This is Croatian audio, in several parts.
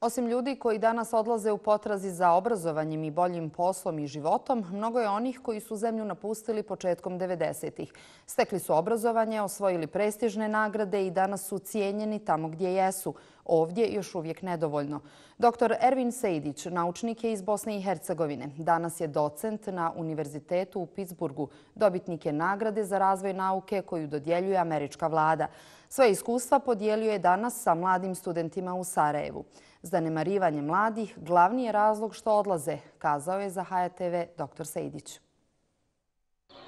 Osim ljudi koji danas odlaze u potrazi za obrazovanjem i boljim poslom i životom, mnogo je onih koji su zemlju napustili početkom 90-ih. Stekli su obrazovanje, osvojili prestižne nagrade i danas su cijenjeni tamo gdje jesu. Ovdje još uvijek nedovoljno. Dr. Ervin Sejdić, naučnik je iz Bosne i Hercegovine. Danas je docent na Univerzitetu u Pittsburghu. Dobitnik je nagrade za razvoj nauke koju dodjeljuje američka vlada. Svoje iskustva podijelio je danas sa mladim studentima u Sarajevu. Zanemarivanje mladih glavni je razlog što odlaze, kazao je za HTV dr. Sejdić.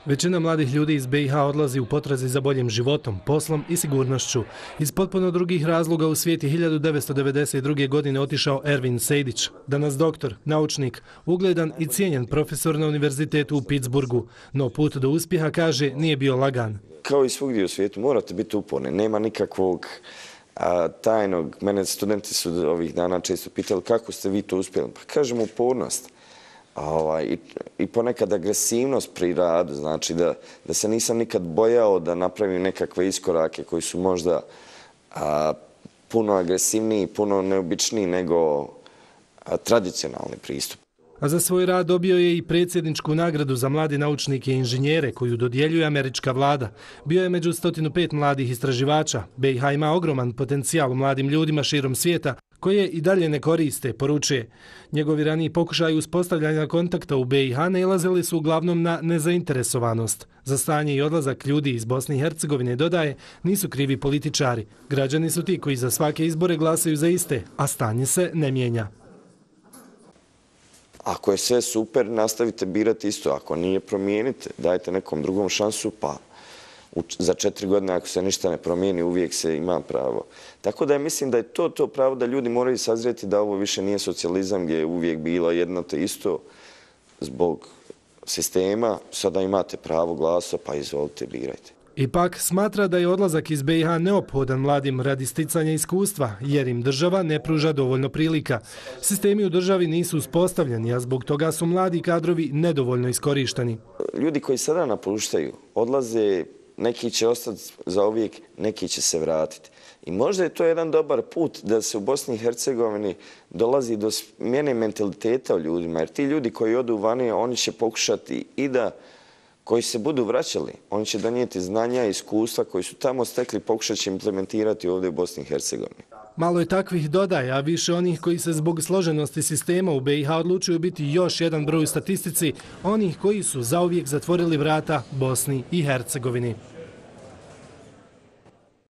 Većina mladih ljudi iz BiH odlazi u potrazi za boljim životom, poslom i sigurnošću. Iz potpuno drugih razloga u svijet je 1992. godine otišao Ervin Sejdić, danas doktor, naučnik, ugledan i cijenjen profesor na Univerzitetu u Pittsburghu. No put do uspjeha, kaže, nije bio lagan. Kao i svugdje u svijetu morate biti uporni, nema nikakvog tajnog. Mene studenti su ovih dana često pitali kako ste vi to uspjeli. Pa kažem upornost. I ponekad agresivnost pri radu, znači da se nisam nikad bojao da napravim nekakve iskorake koji su možda puno agresivniji, puno neobičniji nego tradicionalni pristup. A za svoj rad dobio je i predsjedničku nagradu za mlade naučnike i inženjere koju dodjeljuje američka vlada. Bio je među 105 mladih istraživača. BiH ima ogroman potencijal u mladim ljudima širom svijeta koje i dalje ne koriste, poručuje. Njegovi raniji pokušaji uspostavljanja kontakta u BiH nailazili su uglavnom na nezainteresovanost. Za stanje i odlazak ljudi iz Bosne i Hercegovine, dodaje, nisu krivi političari. Građani su ti koji za svake izbore glasaju za iste, a stanje se ne mijenja. Ako je sve super, nastavite birati isto. Ako nije, promijenite. Dajte nekom drugom šansu, pa za 4 godine ako se ništa ne promijeni, uvijek se ima pravo. Tako da mislim da je to pravo da ljudi moraju sazrijeti da ovo više nije socijalizam gdje je uvijek bilo jedno te isto zbog sistema. Sada imate pravo glasa, pa izvolite, birajte. Ipak smatra da je odlazak iz BiH neophodan mladim radi sticanja iskustva, jer im država ne pruža dovoljno prilika. Sistemi u državi nisu uspostavljeni, a zbog toga su mladi kadrovi nedovoljno iskorišteni. Ljudi koji sada napuštaju, odlaze, neki će ostati za uvijek, neki će se vratiti. I možda je to jedan dobar put da se u Bosni i Hercegovini dolazi do smjene mentaliteta u ljudima, jer ti ljudi koji odu vani, oni će pokušati i da koji se budu vraćali, oni će donijeti znanja i iskustva koji su tamo stekli, pokušat će implementirati ovdje u Bosni i Hercegovini. Malo je takvih dodaja, a više onih koji se zbog složenosti sistema u BiH odlučuju biti još jedan broj u statistici, onih koji su zauvijek zatvorili vrata Bosni i Hercegovini.